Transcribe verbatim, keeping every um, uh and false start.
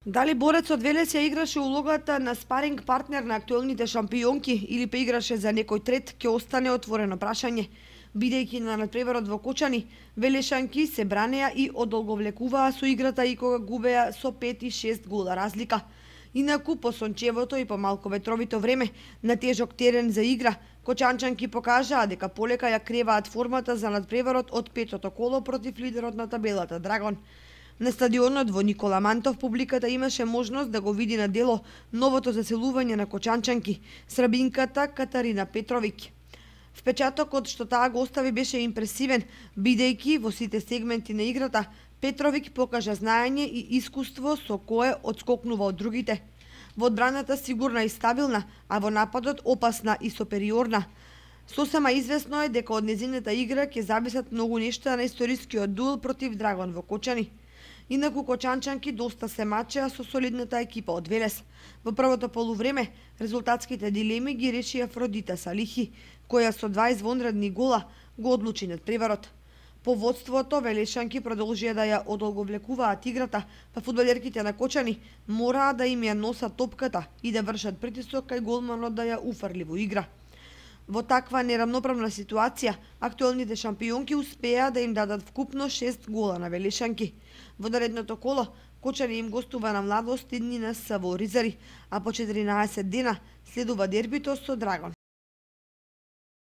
Дали борецот Велес ја играше улогата на спаринг партнер на актуелните шампионки или па играше за некој трет, ќе остане отворено прашање. Бидејќи на надпреварот во Кочани, велешанки се бранеа и одолговлекуваа со играта и кога губеа со пет и шест гола разлика. Инаку по сончевото и по малку ветровито време на тежок терен за игра, кочанчанки покажаа дека полека ја креваат формата за надпреварот од петото коло против лидерот на табелата Драгон. На стадионот во Никола Мантов публиката имаше можност да го види на дело новото заселување на кочанчанки, србинката Катарина Петровиќ. Впечатокот што таа го остави беше импресивен, бидејќи во сите сегменти на играта Петровиќ покажа знаење и искуство со кое одскокнува од другите. Во одбраната сигурна и стабилна, а во нападот опасна и супериорна. Сосема известно е дека од незината игра ќе зависат многу нешта на историскиот дуел против Драгон во Кочани. Инаку кочанчанки доста се мачеа со солидната екипа од Велес. Во првото полувреме резултатските дилеми ги реши Афродита Салихи, која со два извонредни гола го одлучи надпреварот. По водството велешанки продолжија да ја одолговлекуваат играта, па фудбалерките на Кочани мораа да им ја носат топката и да вршат притисок кај голманот да ја уфрли во игра. Во таква нерамноправна ситуација, актуелните шампионки успеа да им дадат вкупно шест гола на велешанки. Во наредното коло, Кочани им гостува на Младост и Нина Са во Оризари, а по четиринаесет дена следува дербито со Драгон.